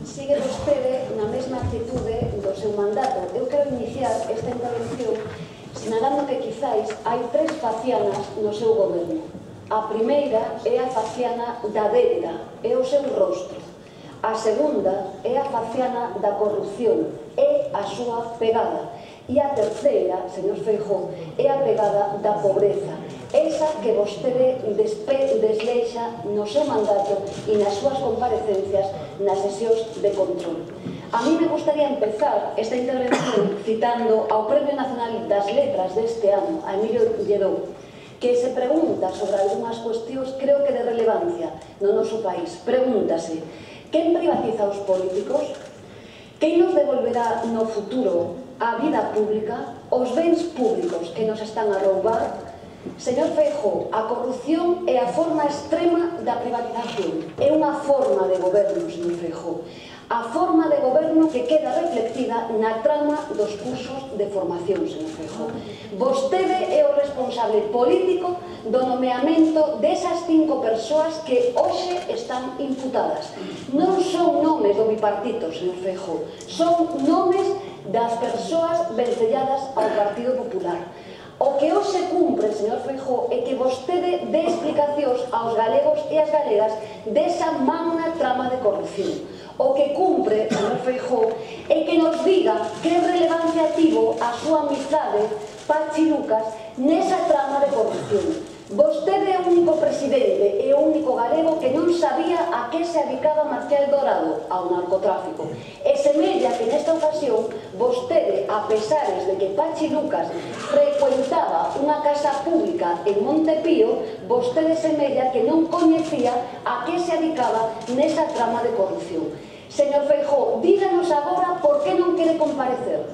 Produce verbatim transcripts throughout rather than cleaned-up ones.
sigue vostede na mesma actitude do seu mandato. Eu quero iniciar esta intervención sinalando que quizáis hai tres facianas no seu goberno. A primeira é a faciana da débeda, é o seu rostro. A segunda é a faciana da corrupción, é a súa pegada. E a terceira, señor Feijóo, é a pegada da pobreza, esa que vostede desleixa no seu mandato e nas súas comparecencias nas sesións de control. A mí me gustaría empezar esta intervención citando ao Premio Nacional das Letras deste ano, a Emilio Lledó, que se pregunta sobre algunhas cuestións, creo que de relevancia no noso país. Pregúntase, quen privatiza os políticos? Quen nos devolverá no futuro a vida pública, os bens públicos que nos están a roubar? Señor Feijóo, a corrupción é a forma extrema da privatización. É unha forma de goberno, señor Feijóo. A forma de goberno que queda reflectida na trama dos cursos de formación, señor Feijóo. Vostede é o responsable político do nomeamento desas cinco persoas que hoxe están imputadas. Non son nomes do bipartito, señor Feijóo. Son nomes das persoas vencelladas ao Partido Popular. O que hoxe cumpre, señor Feijóo, é que vostede dé explicacións aos galegos e as galegas desa magna trama de corrupción. O que cumpre, señor Feijóo, é que nos diga que relevancia tivo a súa amizade Pachi Lucas nesa trama de corrupción. Vostede é o único presidente e o único galego que non sabía a que se dedicaba Marcial Dorado, ao narcotráfico. E semella que nesta ocasión vostede, a pesares de que Pachi Lucas frecuentaba unha casa pública en Montepío, vostede semella que non coñecía a que se dedicaba nesa trama de corrupción. Señor Feijóo, díganos agora por que non quere comparecer.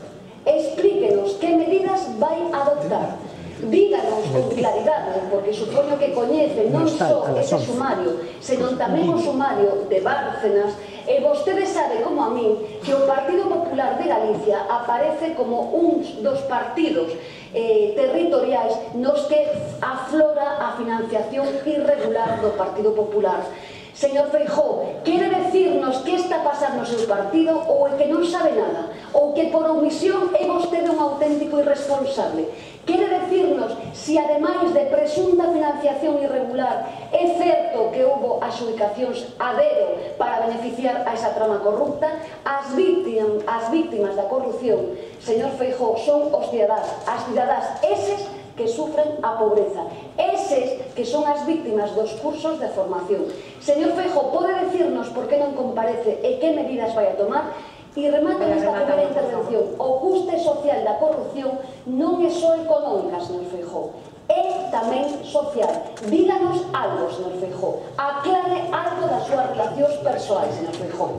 Explíquenos que medidas vai adoptar. Díganos con claridade, porque supoño que coñece non só ese sumario, senón tamén o sumario de Bárcenas, e vostede sabe, como a min, que o Partido Popular de Galicia aparece como un dos partidos eh, territoriais nos que aflora a financiación irregular do Partido Popular. Señor Feijóo, quere decirnos que está a pasar no seu partido ou é que non sabe nada, ou que por omisión é vostede un auténtico irresponsable. Quere decirnos se, ademais de presunta financiación irregular, é certo que houbo adxudicacións a dedo para beneficiar a esa trama corrupta. As víctimas, as víctimas da corrupción, señor Feijóo, son os cidadás, as cidadás eses que sufren a pobreza, eses que son as víctimas dos cursos de formación. Señor Feijóo, pode decirnos por que non comparece e que medidas vai a tomar? E remato nesta primeira intervención. O custe social da corrupción non é só económica, señor Feijóo, é tamén social. Díganos algo, señor Feijóo. Aclare algo das súas relacións persoais, señor Feijóo.